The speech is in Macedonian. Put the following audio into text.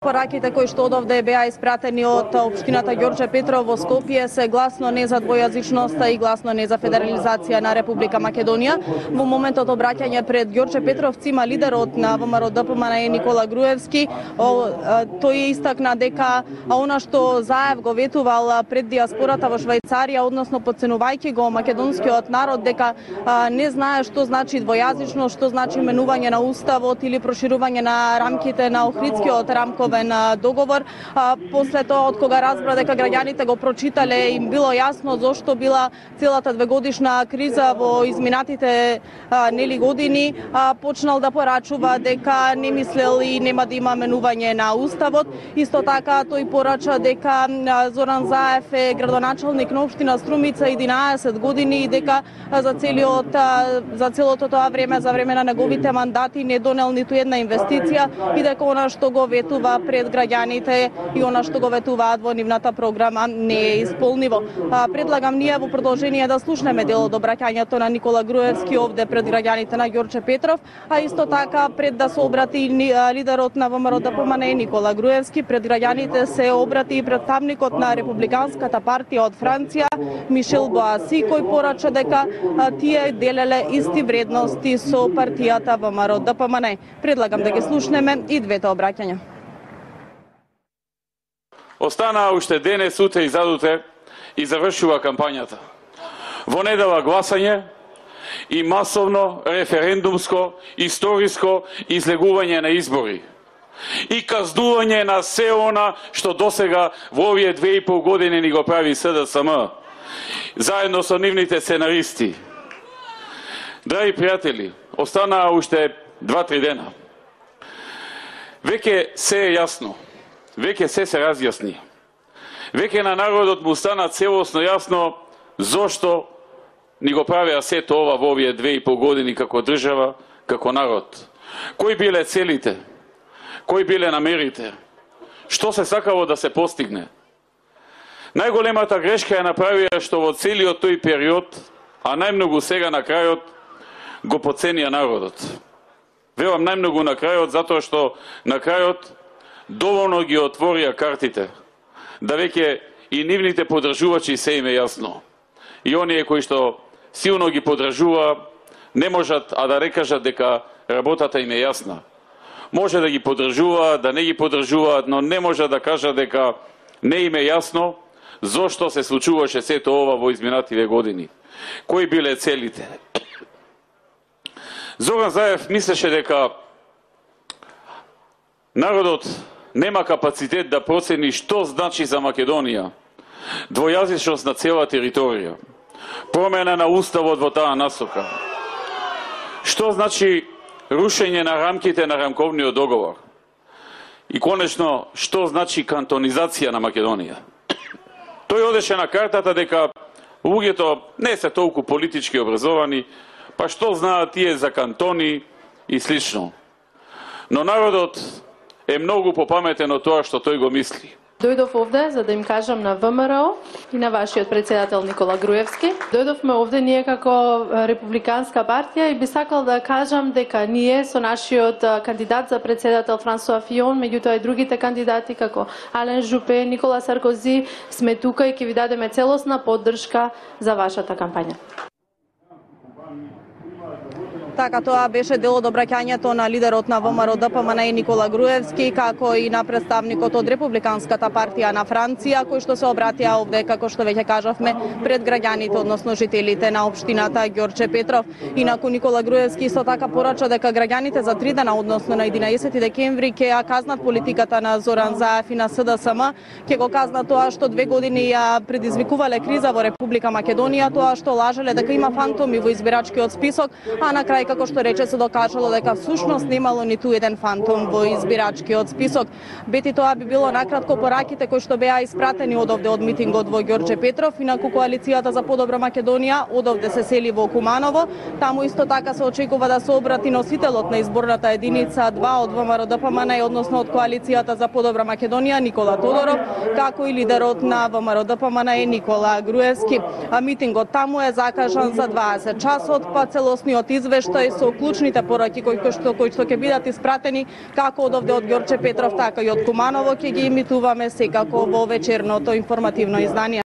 Пораките кои што одовде беа испратени од општината Ѓорче Петров во Скопје се гласно не за двојазичноста и гласно не за федерализација на Република Македонија. Во моментот обраќање пред Ѓорче Петровци има лидерот на ВМРО-ДПМНЕ Никола Груевски. Тој истакна дека она што Заев го ветувал пред диаспората во Швајцарија, односно подценувајќи го македонскиот народ, дека не знае што значи двојазичност, што значи менување на уставот или проширување на рамките на Охридскиот рамков договор. После тоа, од кога разбра дека граѓаните го прочитале, им било јасно зошто била целата двегодишна криза во изминатите нели години, почнал да порачува дека не мислел и нема да има менување на уставот. Исто така тој порача дека Зоран Заев е градоначалник на општина Струмица 11 години и дека за целото тоа време, за време на неговите мандати, не донел ниту една инвестиција и дека она што го ветува пред граѓаните и она што го ветуваат во нивната програма не е исполниво. Предлагам ние во продолжение да слушнеме дел од обраќањето на Никола Груевски овде пред граѓаните на Ѓорче Петров, а исто така пред да се обрати лидерот на ВМРО-ДПМНЕ Никола Груевски пред граѓаните се обрати и представникот на Републиканската партија од Франција Мишел Боаси, кој порача дека тие делеле исти вредности со партијата ВМРО-ДПМНЕ. Предлагам да ги слушнеме и двете обраќања. Останаа уште денес, утре и задутре и завршува кампањата. Во недела гласање и масовно референдумско, историско излегување на избори. И казнување на се она што досега во овие 2,5 години ни го прави СДСМ, заедно со нивните сценаристи. Драги пријатели, останаа уште 2-3 дена. Веќе се е јасно. Веќе се разјасни. Веќе на народот му стана целосно јасно зошто ни го правеа сето ова во овие 2,5 години како држава, како народ. Кои биле целите? Кои биле намерите? Што се сакало да се постигне? Најголемата грешка ја направија што во целиот тој период, а најмногу сега на крајот, го поценија народот. Велам најмногу на крајот, затоа што на крајот доволно ги отворија картите, да веќе и нивните подржувачи се им е јасно. И оние кои што силно ги подржува, не можат а да не кажат дека работата им е јасна. Може да ги подржуваат, да не ги подржуваат, но не може да кажат дека не им е јасно зошто се случуваше сето ова во изминативе години. Кои биле целите? Зоран Заев мислеше дека народот нема капацитет да процени што значи за Македонија двојазичност на цела територија, промена на уставот во таа насока. Што значи рушење на рамките на рамковниот договор? И конечно, што значи кантонизација на Македонија? Тој одеше на картата дека луѓето не се толку политички образовани, па што знаат тие за кантони и слично. Но народот е многу попаметен од тоа што тој го мисли. Дојдов овде за да им кажам на ВМРО и на вашиот председател Никола Груевски. Дојдовме овде ние како Републиканска партија и би сакал да кажам дека ние со нашиот кандидат за председател Франсуа Фион, меѓутоа и другите кандидати како Ален Жупе, Никола Саркози, сме тука и ќе ви дадеме целосна поддршка за вашата кампања. Така, тоа беше дел од обраќањето на лидерот на ВМРО-ДПМНЕ Никола Груевски, како и на представникот од Републиканската партија на Франција, кои што се обратија овде, како што веќе кажавме, пред граѓаните, односно жителите на општината Ѓорче Петров. Инаку Никола Груевски исто така порача дека граѓаните за 3 дена, односно на 11 декември, ќе ја казнат политиката на Зоран Заев и на СДСМ, ќе го казнат тоа што 2 години ја предизвикувале криза во Република Македонија, тоа што лажеле дека има фантоми во избирачкиот список, а на крај како што рече се докажало дека всушност немало ниту еден фантом во избирачкиот список. Бети тоа би било накратко пораките кои што беа испратени одовде од митингот во Ѓорче Петров. Инаку коалицијата за подобра Македонија одовде се сели во Куманово. Таму исто така се очекува да се обрати носителот на изборната единица 2 од ВМРО-ДПМНЕ, односно од коалицијата за подобра Македонија Никола Тодоров, како и лидерот на ВМРО-ДПМНЕ Никола Груевски. Митингот таму е закажан за 20 часот, па целосниот извештај исто и со клучните пораки кои што ќе бидат испратени како од овде од Ѓорче Петров, така и од Куманово, ќе ги имитуваме секако во вечерното информативно издание.